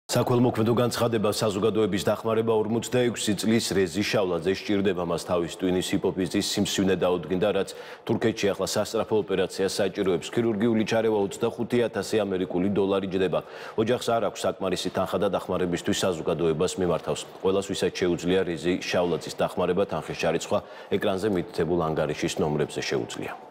საქველმოქმედო განცხადება საზოგადოების დახმარება 46 წლის რეზი შავლაძე სჭირდება მას თავის ტვინის ჰიპოფიზის სიმსივნე დაუდგინდა, რაც თურქეთში ახლა სასწრაფო ოპერაციას საჭიროებს. ქირურგიული ჩარევა 25,000 ამერიკული დოლარი ჯდება. ოჯახს არ აქვს საკმარისი თანხა და დახმარებისთვის საზოგადოებას მიმართავს. ყველას ვისაც შეუძლია რეზი შავლაძის დახმარება, თანხის ჩარიცხვა ეკრანზე მითითებულ ანგარიშის ნომრებზე შეუძლია.